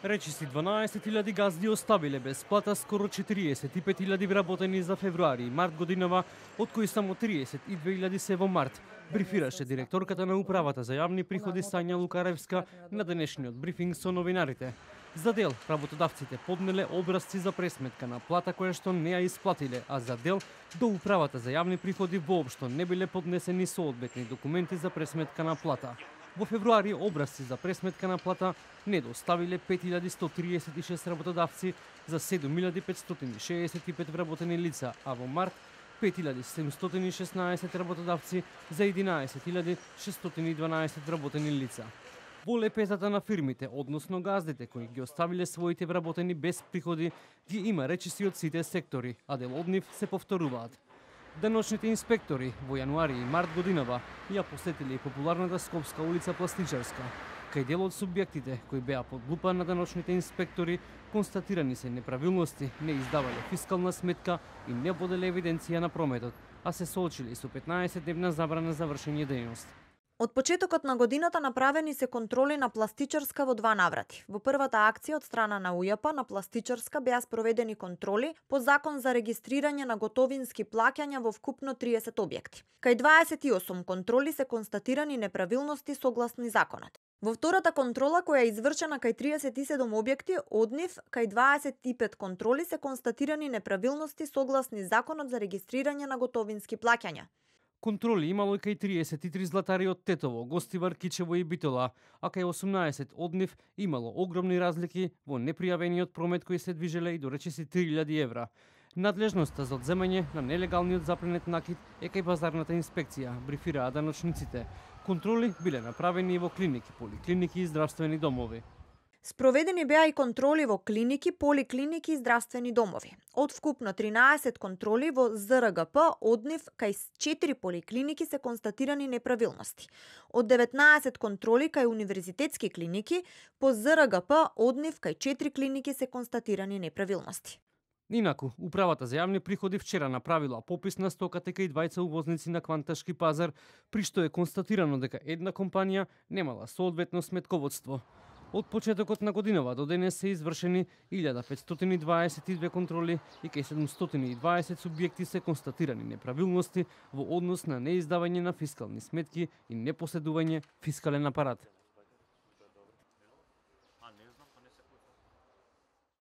Речиси 12.000 газди оставиле без плата скоро 45.000 вработени за февруари и март годинава, од кои само 32.000 се во март, брифираше директорката на Управата за јавни приходи Сања Лукаревска на денешниот брифинг со новинарите. За дел, работодавците поднеле образци за пресметка на плата која што не ја исплатиле, а за дел до Управата за јавни приходи воопшто не биле поднесени соодветни документи за пресметка на плата. Во февруари образци за пресметка на плата не доставиле 5136 работодавци за 7565 вработени лица, а во март 5716 работодавци за 11612 вработени лица. Во лепезата на фирмите, односно газдите кои ги оставиле своите вработени без приходи, ги има речиси од сите сектори, а дел од нив се повторуваат. Деночните инспектори во јануари и март годинава ја посетиле и популарната Скопска улица Пластичарска, кај дел од субјектите кои беа под лупа на деночните инспектори констатирани се неправилности, не издавале фискална сметка и не воделе евиденција на прометот, а се соочиле со 15-дневна забрана за вршење дејност. Од почетокот на годината направени се контроли на Пластичарска во два наврати. Во првата акција од страна на УЈП на Пластичарска беа спроведени контроли по закон за регистрирање на готовински плаќања во вкупно 30 објекти. Кај 28 контроли се констатирани неправилности согласни законот. Во втората контрола, која е извршена кај 37 објекти, од нив кај 25 контроли се констатирани неправилности согласни законот за регистрирање на готовински плаќања. Контроли имало и кај 33 златари од Тетово, Гостивар, Кичево и Битола, а кај 18 од нив имало огромни разлики во непријавениот промет кои се движеле и до речиси 3000 евра. Надлежноста за одземање на нелегалниот запленет накид е кај пазарната инспекција, брифираа даночниците. Контроли биле направени и во клиники, поликлиники и здравствени домови. Спроведени беа и контроли во клиники, поликлиники и здравствени домови. Од вкупно 13 контроли во ЗРГП, од нив кај 4 поликлиники се констатирани неправилности. Од 19 контроли кај универзитетски клиники, по ЗРГП, од нив кај 4 клиники се констатирани неправилности. Инаку, Управата за јавни приходи вчера направила попис на стоката кај двајца увозници на Кванташки пазар, при што е констатирано дека една компанија немала соодветно сметководство. Од почетокот на годинава до денес се извршени 1522 контроли и кај 720 субјекти се констатирани неправилности во однос на неиздавање на фискални сметки и непоседување фискален апарат.